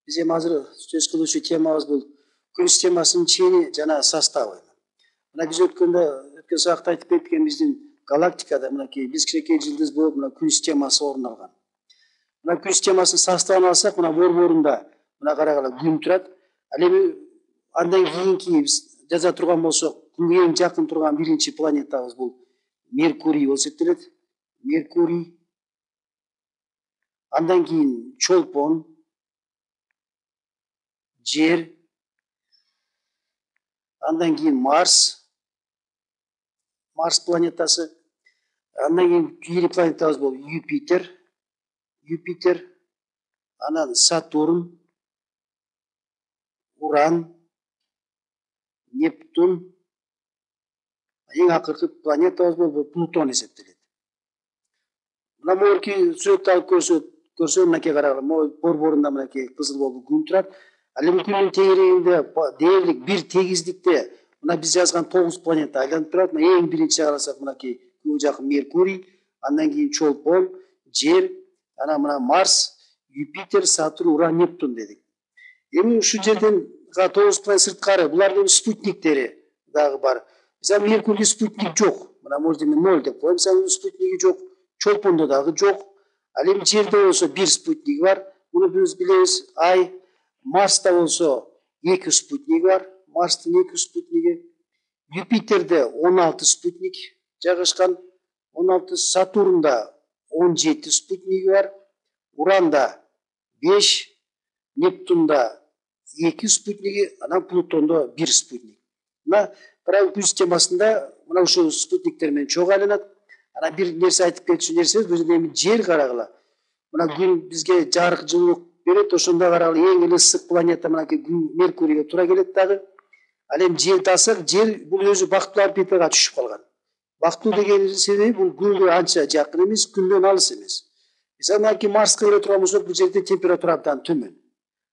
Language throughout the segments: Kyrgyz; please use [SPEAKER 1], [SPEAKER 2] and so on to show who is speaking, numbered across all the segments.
[SPEAKER 1] Биз эми азыр сөз кылуучу темабыз бул күн системасынын чени жана составы. Мына биз өткөн сабакта айтып кеткен биздин галактикада мынакей биз кичинекей жылдыз болуп мына күн системасы орун алган. Мына күн системасынын составын алсак, мына борборунда мына карагыла күн турат. Ал эми андан кийинки биз жаза турган болсок, күнгө эң жакын турган биринчи планетабыз бул Меркурий болуп эсептелет. Меркурий. Андан кийин Чолпон, Жер, андан кийин Марс планетасы, андан кийин кийинки планетабыз бул Юпитер, анан Сатурн, Уран, Нептун, эң акыркы планетабыз бул Плутон эсептелет. Мына могуки сүрөттү алып көрсө, мынакей карагыла, борборунда мынакей кызыл болуп күн турат. Ал эми күндүн тегерегинде дээрлик бир тегиздикте мына биз жазган 9 планета айланып турат. Мына эң биринчи карасак мынакей күнгө жакын Меркурий, андан кийин Чолпон, Жер, анан мына Марс, Юпитер, Сатурн, Уран, Нептун дедик. Эми ушул жерден 9 планета сырткары булардын спутниктери дагы бар. Мисалы Меркурийде спутник жок. Мына может эми 0 деп коем. Мисалы спутниги жок. Чолпондо дагы жок. Ал эми Жерде болсо бир спутник бар. Муну биз билебиз. Ай, Марста болсо 2 спутник бар. Марстын 2 спутниги. Юпитерде 16 спутник жайгашкан. 16. Сатурнда 17 спутниги бар. Уранда 5, Нептунда 2 спутниги, анан Плутондо 1 спутник. Мына күн системасында мына ушул спутниктер менен чогуу айланат. Анан бир нерсе айтып кетчү нерсебиз, бул жерде эми Жер карагыла. Мына күн бизге жарык жылуулук берет, ошондо карагыла эң эле ысык планета мынакей Меркурийге туура келет дагы. Ал эми Жерди алсак, Жер бул өзү бактылуу орбитага түшүп калган. Бактылуу деген себеби бул күнгө анча жакын эмес, күндөн алыс эмес. Мисалы мынакей Марска келе турган болсок, бул жерде температура абдан төмөн.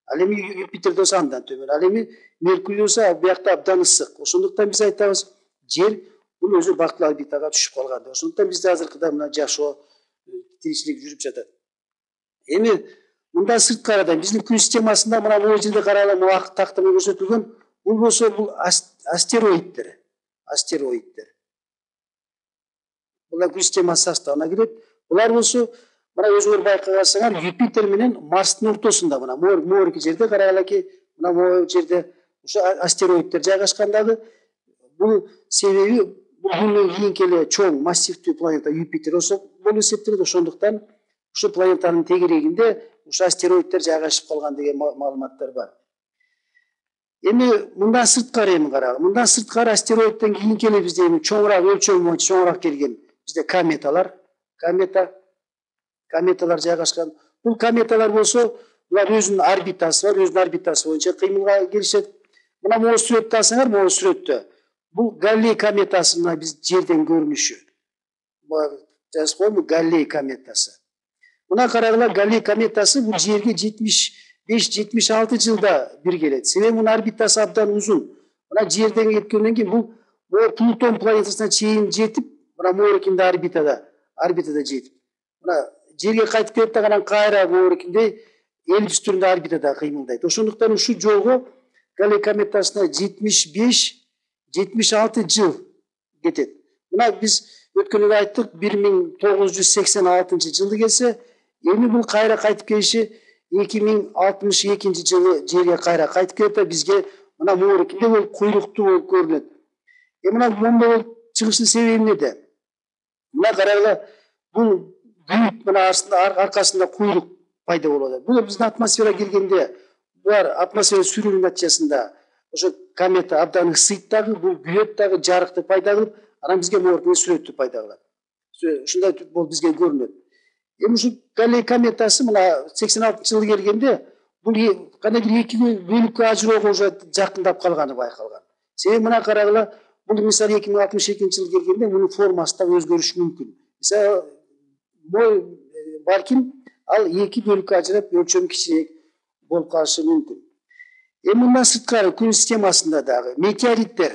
[SPEAKER 1] Ал эми Юпитерде болсо андан төмөн. Ал эми Меркурий болсо биякта абдан ысык. Ошондуктан биз айтабыз, Жер бул өзү бактылуу орбитага түшүп калган. Ошондуктан бизде азыркыда мына жашоо, тиричилик жүрүп жатат. Эми мында сырткарыдан биздин күн системасында мына бул жерде карагыла, мына ак такта менен көрсөтүлгөн, бул болсо бул астероиддер. Булар күн системасы составына кирет. Булар болсо мына өзүңөр байкагансыңар, Юпитер менен Марстын ортосунда мына моорки жерде карагалаки, мына могу жерде ушу астероиддер жайгашкан дагы. Бул себеби бул күндөн кийинки эле чоң массивдүү планета Юпитер болуп эсептелет. Ошондуктан ушу планетанын тегерегинде ушу астероиддер жайгашып калган деген маалыматтар бар. Эми мындан сырткары мындан сырткары астероидден кийинки эле бизде эми чоңураак өлчөмү боюнча чоңураак келген бизде кометалар жайгашкан. Бул кометалар болсо, булар өзүнүн орбитасы бар, өзүнүн орбитасы боюнча кыймылга келишет. Мына могу сүрөттү алсаңар, могу сүрөттө бул Галлей кометасы, мына биз Жерден көрүнүшү. Жазып коем, Галлей кометасы. Мына карагыла, Галлей кометасы бул Жерге 75-76 жылда бир келет. Себеби мунун орбитасы абдан узун. Мына Жерден кеткенден кийин бул Плутон планетасына чейин жетип, мына моорикинде орбитада жетип. Мына Жерге кайтып келет да, анан кайра моорикинде элдис түрүндө орбитада кыймылдайт. Ошондуктан ушул жолго Галлей кометасына 75-76 жыл кетет. Мына биз өткөндө айттык, 1986 жылы келсе, эми бул кайра кайтып келиши 2062 жылы Жерге кайра кайтып келет да, бизге мына моорикинде болуп куйруктуу болуп көрүнөт. Мына мондой болуп чыгыштын себеби эмнеде? Мына карагыла, бул бүйүк мына аркасында куйрук пайда болот. Бул биздин атмосферага келгенде, булар атмосфера сүрүүнүн натыйжасында ошо комета абдан ысыйт дагы, бул күйөт дагы, жарыкты пайда кылып, анан бизге моорикинде сүрөттү пайда кылат. Ушундай болуп бизге көрүнөт. Эми ушул Галлей кометасы мына 86 жылы келгенде, бул кандайдыр эки бөлүккө ажыроого уже жакындап калганы байкалган. Себеби мына карагыла, бул мисалы 2062 жылы келгенде мунун формасы да өзгөрүшү мүмкүн. Мисалы балким ал эки бөлүккө ажырап өлчөмү кичирээк болуп калышы мүмкүн. Эми мындан сырткары күн системасында дагы метеориттер,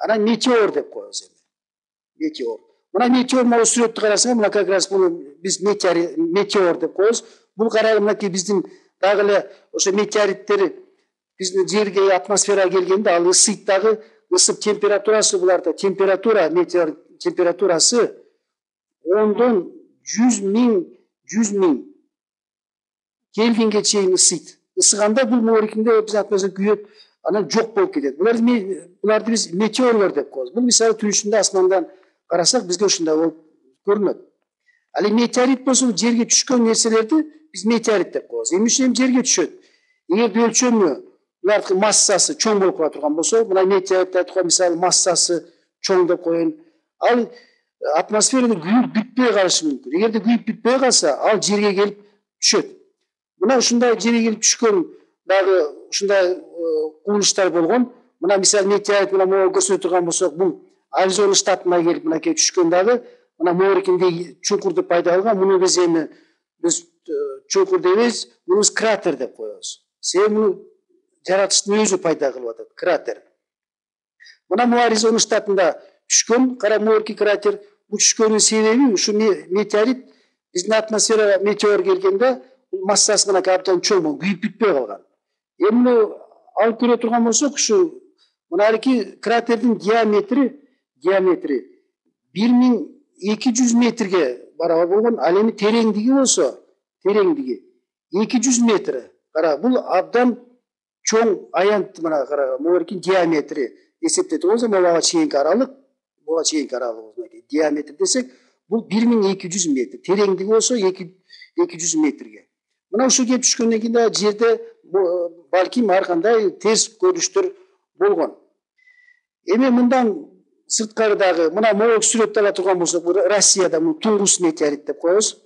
[SPEAKER 1] анан метеор деп коебуз эми. Метеор. Мына метеор могу сүрөттү карасаң, мына как раз бул биз метеор деп коебуз. Бул карагыла мынакей биздин дагы эле ошо метеориттер биздин жерге, атмосферага келгенде ал ысыйт дагы, ысып температурасы буларда метеор температурасы 10дон 100 миң Кельвинге чейин ысыйт. Ысыганда бул моорикинде биз атмосфера күйөт, анан жок болуп кетет. Буларды биз метеорлор деп коебуз. Бул мисалы түнүшүндө асмандан карасак бизге ушундай болуп көрүнөт. Ал эми метеорит болсо жерге түшкөн нерселерди биз метеорит деп коебуз. Эмне үчүн жерге түшөт? Эгерде өлчөмү булардын массасы чоң болуп кала турган болсо, мына метеорит айтып коюп, мисалы массасы чоң деп коеюн. Ал атмосферада күйүп бүтпөй калышы мүмкүн. Эгерде күйүп бүтпөй калса, ал жерге келип түшөт. Мына ушундай жерге келип түшкөн дагы ушундай кубулуштар болгон. Мына мисалы метеорит мына могу көрсөтө турган болсок, бул Аризона штатына келип мынакей түшкөн дагы мына моорикинде чуңкурду пайда кылган. Муну биз эми чуңкур дейбиз, муну кратер деп коебуз. Себеби муну жаратылыштын өзү пайда кылып атат, кратер. Мына бул Аризона штатында түшкөн моорики кратер. Бул түшкөнүн себеби ушу метеорит биздин атмосферага метеор келгенде массасы мынакей абдан чоң болуп күйүп бүтпөй калган. Эми алып көрө турган болсок, ушу мынарки кратердин диаметри 1200 метрге барабар болгон. Ал эми тереңдиги болсо, 200 метр. Кара, бул абдан чоң аянт, мына кара, моорикин диаметри эсептете болсо, буга чейинки аралык, диаметр десек, бул 1200 метр. Тереңдиги болсо 200 метрге. Мына ушу келип түшкөндөн кийин да жерде балким ар кандай терс көрүнүштөр болгон. Эми мындан сырткары дагы мына могу сүрөттү ала турган болсок, Россияда муну Тунгус метеорит деп коебуз.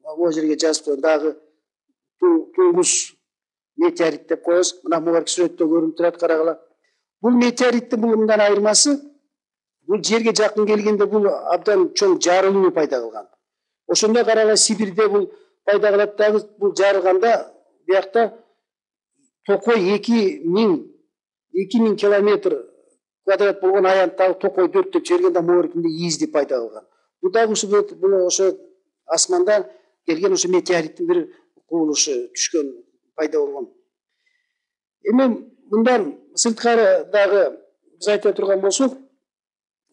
[SPEAKER 1] Могу жерге жазып коеюн, дагы Тунгус метеорит деп коебуз. Мына могу сүрөттө көрүнүп турат, карагыла. Бул метеориттин мындан айырмасы, бул жерге жакын келгенде бул абдан чоң жарылуу пайда кылган. Ошондо карагыла Сибирде бул пайда кылат дагы, бул жарылганда биякта токой 2000 километр квадрат болгон аянттагы токой дөттөп жибергенде моорикинде изди пайда кылган. Бул дагы ошо асмандан келген ошо метеориттин бир кубулушу түшкөн, пайда болгон. Эми мындан сырткары дагы биз айта турган болсок,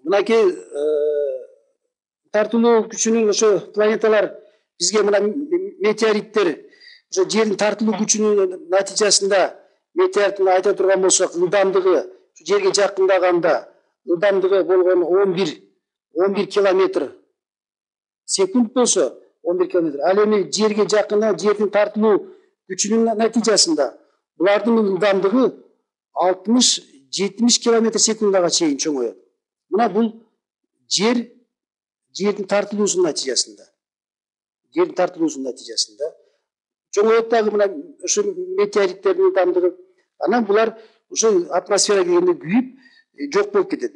[SPEAKER 1] мынакей тартылуу күчүнүн ошо планеталар бизге мына метеориттер ошо жердин тартылуу күчүнүн натыйжасында метеориттин айта турган болсок, ылдамдыгы жерге жакындаганда ылдамдыгы болгон 11 километр секунд болсо, 11 километр. Ал эми жерге жакында жердин тартылуу күчүнүн натыйжасында булардын ылдамдыгы 60-70 километр секундага чейин чоңоет. Мына бул жердин тартылуусунун натыйжасында. Чоңоет дагы мына ошо метеориттердин ылдамдыгы. Анан булар ошо атмосферага келгенде күйүп жок болуп кетет.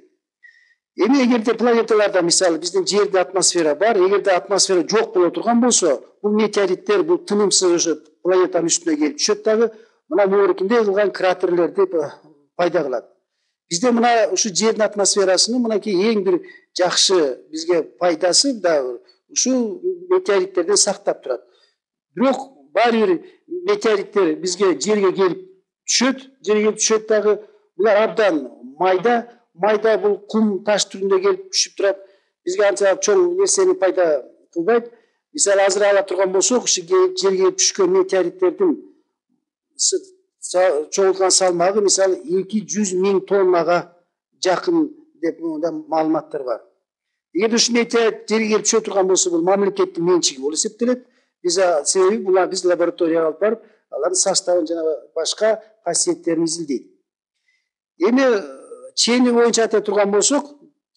[SPEAKER 1] Эми эгерде планеталарда, мисалы биздин жерде атмосфера бар, эгерде атмосфера жок боло турган болсо, бул метеориттер бул тынымсыз ошо планетанын үстүнө келип түшөт дагы, мына моорикинде кылган кратерлерди пайда кылат. Бизде мына ушу жердин атмосферасынын мынакей эң бир жакшы бизге пайдасы дагы ушул метеориттерден сактап турат. Бирок баары бир метеориттер бизге жерге келип түшөт дагы, булар абдан майда бул кум таш түрүндө келип түшүп турат. Бизге анча чоң нерсени пайда кылбайт. Мисалы азыр ала турган болсок, ушу жерге келип түшкөн метеориттердин чогулткан салмагы мисалы 200 миң тоннага жакын деп маалыматтар бар. Эгерде ушу метеорит жерге келип түшө турган болсо, бул мамлекеттин менчиги болуп эсептелет. Себеби булар биз лабораторияга алып барып, алардын составын жана башка касиеттерин изилдейт. Эми чени боюнча айта турган болсок,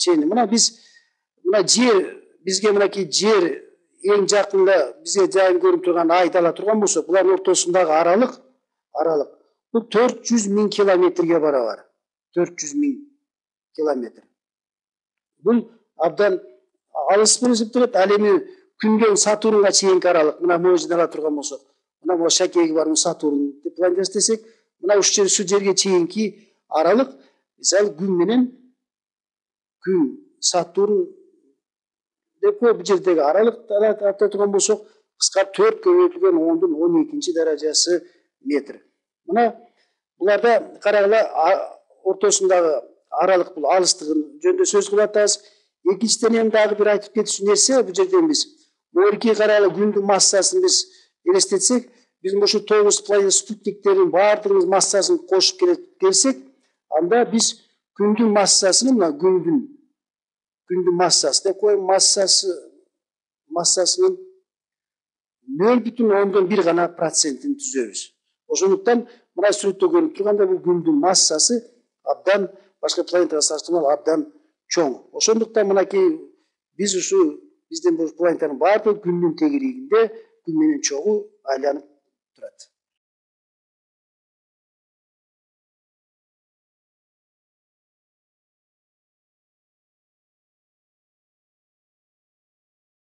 [SPEAKER 1] мына жер, бизге мынакей жер эң жакында бизге жайын көрүнүп турган айды ала турган болсок, булардын ортосундагы аралык бул 400 миң километрге барабар. 400 миң километр. Бул абдан алыс болуп эсептелет. Ал эми Күндөн Сатурнга чейинки аралык, мына могу жерден ала турган болсок, мына могу шакеги бар Сатурн планетасы десек, мына ушул жерге чейинки аралык, мисалы Күн, Сатурн деп бул жердеги аралыкты ата турган болсок, кыскартып 4 көбөйтүлгөн 10-12 даражасы метр. Мына буларда карагыла, ортосундагы аралык бул алыстыгын жөнүндө сөз кылып атабыз. Экинчиден эми дагы бир айтып кетүүчү нерсе, бул жерден биз моорки карагыла күндүн массасын биз элестетсек, биз ушу 9 планета спутниктердин баардыгынын массасын кошуп келсек, анда биз күндүн массасын, мына күндүн массасы деп коеюн, массасынын 0,1 гана процентин түзөбүз. Ошондуктан мына сүрөттө көрүнүп тургандай бул күндүн массасы абдан башка планетага салыштырмалуу абдан чоң. Ошондуктан мынакей биз ушу биздин бул планетанын баардыгы күндүн тегерегинде күн менен чогуу айланып